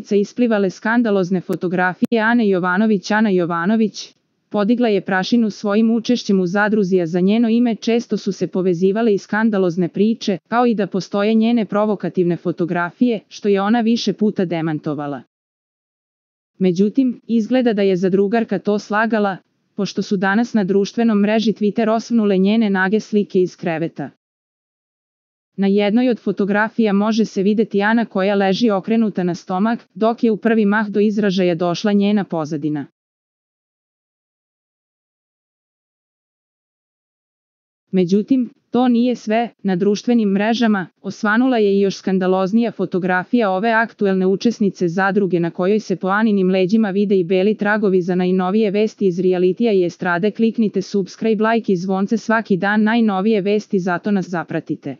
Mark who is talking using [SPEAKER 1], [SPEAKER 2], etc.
[SPEAKER 1] učesnica isplivale skandalozne fotografije Ane Jovanović. Ana Jovanović podigla je prašinu svojim učešćem u zadruzi, a za njeno ime često su se povezivale i skandalozne priče, kao i da postoje njene provokativne fotografije, što je ona više puta demantovala. Međutim, izgleda da je zadrugarka to slagala, pošto su danas na društvenom mreži Twitter osvnule njene nage slike iz kreveta. Na jednoj od fotografija može se vidjeti Ana koja leži okrenuta na stomak, dok je u prvi mah do izražaja došla njena pozadina. Međutim, to nije sve. Na društvenim mrežama osvanula je i još skandaloznija fotografija ove aktuelne učesnice zadruge, na kojoj se po Aninim leđima vide i beli tragovi. Za najnovije vesti iz realitija i estrade kliknite subscribe, like i zvonce svaki dan, najnovije vesti, zato nas zapratite.